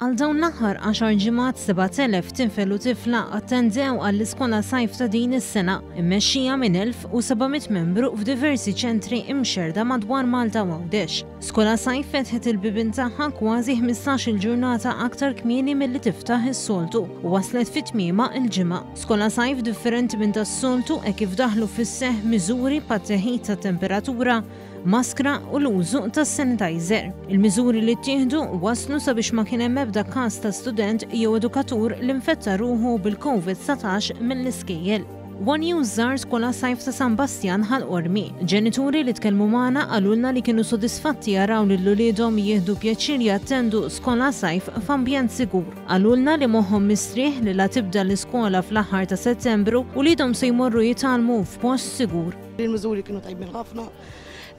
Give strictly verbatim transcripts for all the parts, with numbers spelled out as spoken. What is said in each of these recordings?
Għal dawn l-aħħar għaxar ġimgħat sebat elef tifel u tifla attendew għall-iskola sajf ta' din is-sena, immexxija minn elf u seba' mitt membru f'diversi ċentri imxerda madwar Malta u Għawdex. Skola Sajf fetħet il-bibien tagħha kważi ħmistax-il ġurnata aktar kmieni milli tiftaħ is-soltu u waslet fit tmiemha il-Ġimgħa. Skola Sajf differenti minn tas-soltu e kif daħlu fis-seħ miżuri bħat-teħid ta' temperatura, maskra u l-użu ta' sanitizer. Il-miżuri li ttieħdu waslu sabiex ma kien hemm ebda każ ta' student jew edukatur li nfetta ruħu bil-Covid dsatax mill-iskejjel. One News żar Skola Sajf ta' San Bastjan Ħal Qormi. Ġenituri li tkellmu magħna qalulna li kienu sodisfatti jaraw lil uliedhom jieħdu pjaċir jattendu Skola Sajf f'ambjent sigur. Qalulna li moħħhom mistrieħ li la tibda l-iskola fl-aħħar ta' Settembru uliedhom se jmorru jitgħallmu f'post sigur. Il-miżuri kienu tajbin ħafna.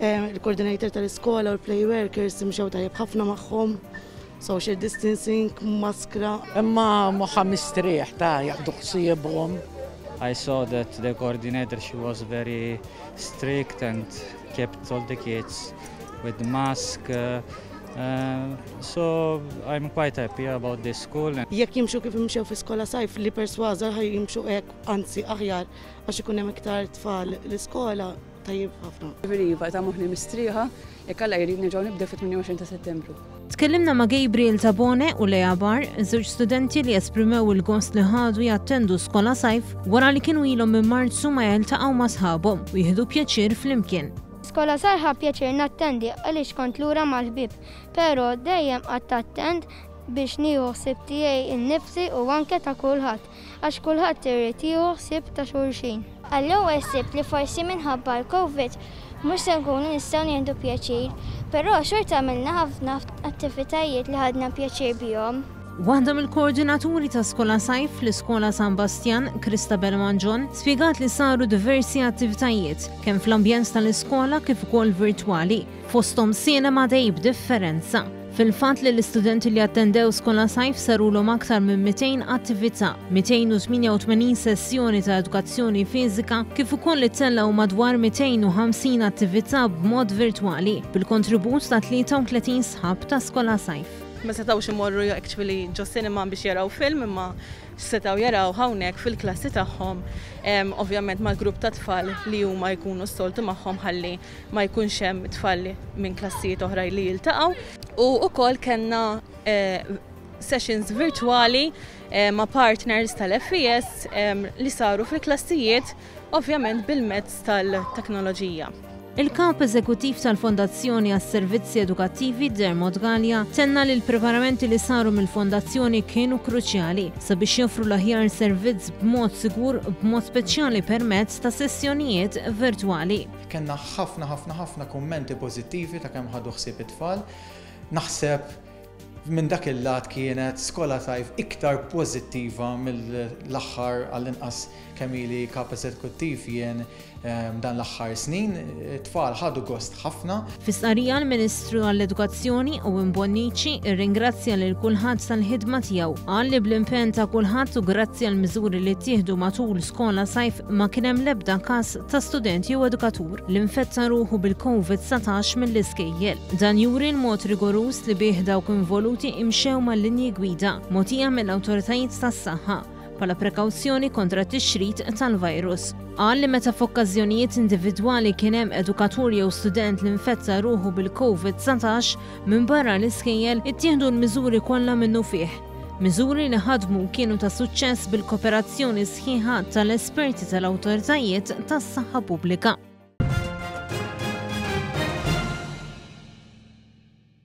Il-coordinator tal-iskola u l-play workers imxew tajjeb ħafna magħhom. Social distancing, maskra. Imma moħħa mistrieħ ta' jieħdu ħsiebhom. I saw that the coordinator, she was very strict and kept all the kids with the mask. Uh, uh, so I'm quite happy about this school. Jekk jimxu kif imxew fi Skola Sajf li persważa ħa jimxu hekk, anzi aħjar, għax ikun hemm iktar tfal l-iskola, tajjeb ħafna. Iva, ta' moħħni mistrieħa, jekk Alla jrid nerġgħu nibdew fit-tmienja u għoxrin ta' Settembru. Tkellimna ma' Gabriel Tabone u Lea Bar, żewġ studenti li esprimew il-gost li ħadu jattendu Skola Sajf wara li kienu ilhom minn Marzu ma jiltaqgħu ma' sħabhom u jieħdu pjaċir flimkien. Skola Sajf ħadt pjaċir nattendi għaliex kont lura mal-ħbieb, pero dejjem qgħadt attent biex nieħu ħsieb tiegħi innifsi u anke ta' kulħadd, għax kulħadd irid jieħu ħsieb ta' xulxin. Għall-ewwel ħsibt li forsi minħabba l-Covid mhux se nkunu nistgħu nieħdu pjaċir, però xorta għamilna ħafna attivitajiet li ħadna pjaċir bihom. Waħda mill-koordinaturi ta' Skola Sajf fl-Iskola San Bastian, Christabel Manġon, spjegat li saru diversi attivitajiet, kemm fl-ambjent tal-iskola kif ukoll virtwali, fosthom cinema day b'differenza. Fil-fatt li l-istudenti li attendew Skola Sajf sarulhom aktar minn mitejn attività, mitejn u tmienja u tmenin sessjoni ta' edukazzjoni fiżika, kif ukoll li tellgħu madwar mitejn u ħamsin attività b'mod virtwali bil-kontribut ta' tlieta u tletin sħab ta' Skola Sajf. Ma setawx imorru actually ġo cinema biex jaraw film, imma setaw jaraw hawnhekk fil-klassi tagħhom, ovvjament mal-grupp ta' tfal li huma jkunu s-soltu magħhom, ħalli ma jkunx hemm tfal minn klassijiet oħra li jiltaqgħu. U wkoll kellna eh, sessions virtuali eh, ma' partners tal-F E S li saru fil-klassijiet, ovvjament bil-mezz tal-teknoloġija. Il-kap eżekutiv tal-Fondazzjoni għas-Servizzi Edukattivi, Dermot Gallia, tenna li l-preparamenti li saru mill-fondazzjoni kienu kruċjali sabiex joffru l-aħjar servizz b'mod sigur, b'mod speċjali permezz ta' sessjonijiet virtwali. Kenna ħafna ħafna ħafna kummenti pożittivi ta' kemm ħadu ħsieb it-tfal. Naħseb minn dak il-lat kienet Skola Sajf iktar pożittiva mill-aħħar, għall-inqas kemm ili kap eżekuttiv jien, ehm, dan l-aħħar snin. Tfal ħadu gost ħafna. Fi stqarrija, l-Ministru għall-Edukazzjoni Owen Bonnici irringrazzja lil kulħadd tal-ħidma tiegħu. Qal li bl-impenn ta' kulħadd u grazzi għal miżuri li ttieħdu matul Skola Sajf ma kien hemm l-ebda każ ta' student jew edukatur li nfetta ruħu bil-Covid dsatax mill-iskejjel. Dan juri l-mod rigoruż li bih dawk involuti imxew mal-linji gwida mogħtija mill-awtoritajiet tas-saħħa bħala prekawzjoni kontra t-tixrid tal-virus. Qal li meta f'okkażjonijiet individwali kien hemm edukatur jew student li nfetta ruħu bil-Covid dsatax minn barra l-iskejjel, ittieħdu l-miżuri kollha minnufih. Miżuri li ħadmu kienu ta' suċċess bil-kooperazzjoni sħiħa tal-esperti tal-awtoritajiet tas-saħħa pubblika.